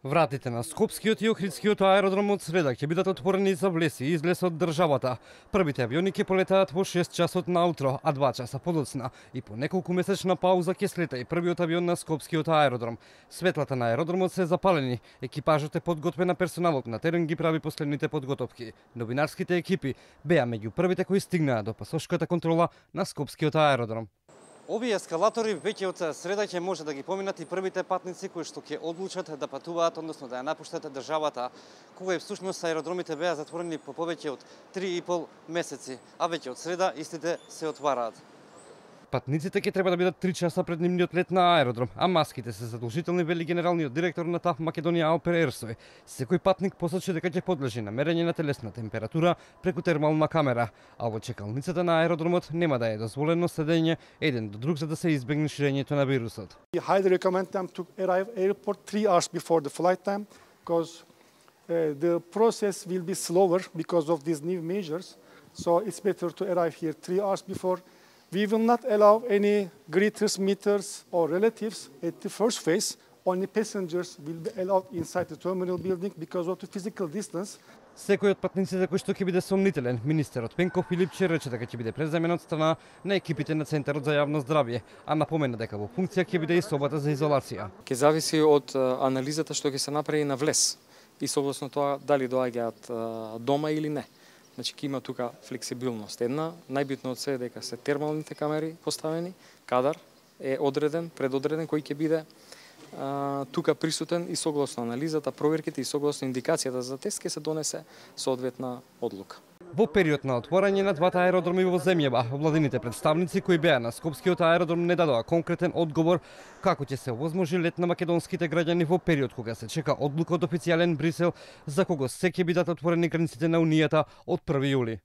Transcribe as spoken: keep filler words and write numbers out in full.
Вратите на Скопскиот и Охридскиот аеродром од среда ќе бидат отворени за влез и излез од државата. Првите авиони ќе полетаат во шест часот наутро, а два часа подоцна. И по неколку месечна пауза ќе слета и првиот авион на Скопскиот аеродром. Светлата на аеродромот се запалени. Екипажот е подготвен, а персоналот на терен ги прави последните подготовки. Новинарските екипи беа меѓу првите кои стигнаа до пасошката контрола на Скопскиот аеродром. Овие ескалатори веќе од среда ќе може да ги поминат и првите патници кои што ќе одлучат да патуваат, односно да ја напуштат државата, кога и всушност аеродромите беа затворени по повеќе од три и пол месеци, а веќе од среда истите се отвараат. Патниците ќе треба да бидат три часа пред нивниот лет на аеродром, а маските се задолжителни, вели генералниот директор на ТАФ Македонија Алпер Ерсој. Секој патник посочи дека ќе подлежи на мерење на телесна температура преку термална камера, а во чекалницата на аеродромот нема да е дозволено седење еден до друг за да се избегне ширењето на вирусот. We highly recommend them to arrive airport three hours before the flight time because uh, the process will be slower because of these new measures. So it's better to arrive here three hours before. We will not allow any greeters, meeters or relatives at the first phase. Only passengers will be allowed inside the terminal building because of the physical distance. Секој од патниците кој што ќе биде сомнителен, министерот Пенко Филипче рече дека ќе биде преземен од страна на екипите на Центарот за јавно здравје, а напомена дека во функција ќе биде и собата за изолација. Ќе зависи од анализата што ќе се направи на влез и согласно тоа дали доаѓаат дома или не. Значи ќе има тука флексибилност. Една, најбитно од се е дека се термалните камери поставени, кадар е одреден, предодреден кој ќе биде а, тука присутен и согласно анализата, проверките и согласно индикацијата за тест ќе се донесе соодветна одлука. Во период на отворање на двата аеродроми во земјава, владините представници кои беа на Скопскиот аеродром не дадоа конкретен одговор како ќе се овозможи лет на македонските граѓани во период кога се чека одлука од официјален Брисел за кого се ќе бидат отворени границите на Унијата од први јули.